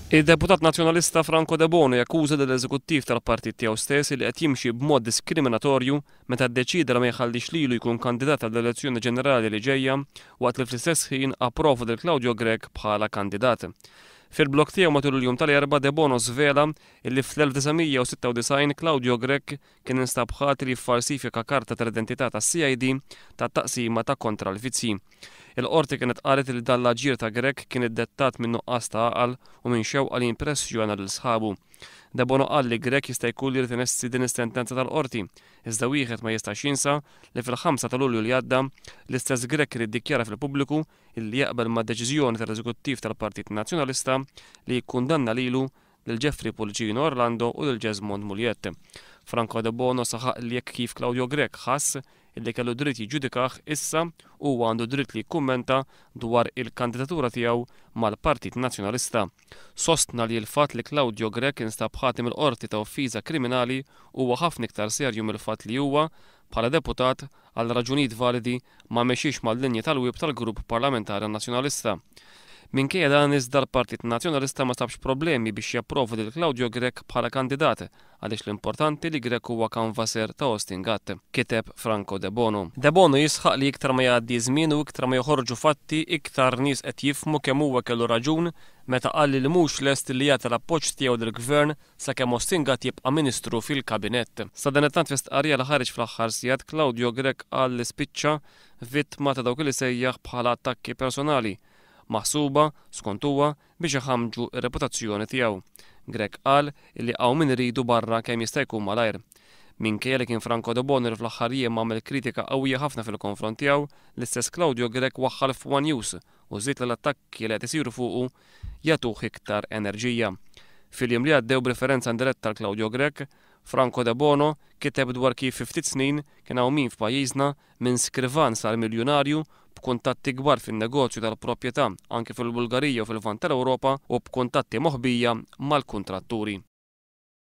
Id-deputat Nazzjonalista Franco Debono jakkuża lill-eżekuttiv tal-partit tiegħu stess li qed jimxi b'mod diskriminatorju meta ddeċieda li ma jħallix lilu jkun kandidat għall-elezzjoni ġenerali li ġejja waqt li fl-istess ħin approva lil Claudio Grech bħala kandidat. Fil-blog tiegħu matul il-jum tal-Erbgħa Debono żvela illi fl-1996 Claudio Grech kien instab ħati li ffalsifika karta tal-identità tas-CID tat-Taqsima ta' Kontra l-Vizzji. Il-Qorti kienet qalet li dan l-aġir ta' Grech kien iddettat minn nuqqas ta' għaqal u minn xewqa li jimpressjona lil sħabu. Debono qal li Grech jista' jkun li jrid inessi din is-sentenza tal-Qorti, iżda wieħed ma jistax jinsa li fil-ħamsa ta' Lulju li għadda, l-istess Grech kien iddikjara fil-pubbliku illi jaqbel mad-deċiżjoni tal-Eżekuttiv tal-Partit Nazzjonalista li jikkundanna lilu lil Jeffrey Pullicino Orlando u lil Jesmond Mugliett. Franco Debono saħaq li jekk kif Claudio Grech ħass illi kellu dritt jiġġudikah issa huwa għandu dritt li jikkummenta dwar il-kandidatura tiegħu mal-Partit Nazzjonalista. Sostna li l-fatt li Claudio Grech instab ħati mill-Qorti ta' offiża kriminali huwa ħafna iktar serju mill-fatt li huwa, bħala deputat, għal raġunijiet validi, ma mexiex mal-linji tal-whip tal-Grupp Parlamentari Nazzjonalista. Minkejja dan iżda l-Partit Nazzjonalista ma sabx problemi biex japprova lil Claudio Grech bħala kandidat għaliex l-importanti li Grech huwa kanvasser ta' Austin Gatt, kiteb Franco Debono. Debono jisħaq li iktar ma jgħaddi ż-żmien u iktar ma joħorġu fatti iktar nies qed jifhmu kemm huwa kellu raġun meta qal li mhux lest li jagħti l-appoġġ tiegħu lill-Gvern sakemm Austin Gatt jibqa' Ministru fil-Kabinett. Sadanittant fi stqarrija li ħareġ fl-aħħar sigħat Claudio Grech qal li spiċċa vittma ta' dawk li sejjaħ bħala attakki personali, maħsuba, skont huwa, biex iħammġu r-reputazzjoni tiegħu. Grech qal illi hawn min iridu barra kemm jista' jkun malajr. Minkejja li kien Franco Debono li fl-aħħar jiem għamel kritika qawwija ħafna fil-konfront tiegħu, l-istess Claudio Grech waħħal f'ONE News u żied li l-attakki li qed isiru fuqu jagħtuh iktar enerġija. Fil-jiem li għaddew b'riferenza indiretta għal Claudio Grech, Franco Debono kiteb dwar kif fi ftit snin kien hawn min f'pajjiżna minn skrivan sar miljunarju b'kuntatti kbar fin-negozju tal-proprjetà anke fil-Bulgarija u fil-Lvant tal-Ewropa u b'kuntatti moħbija mal-kuntratturi.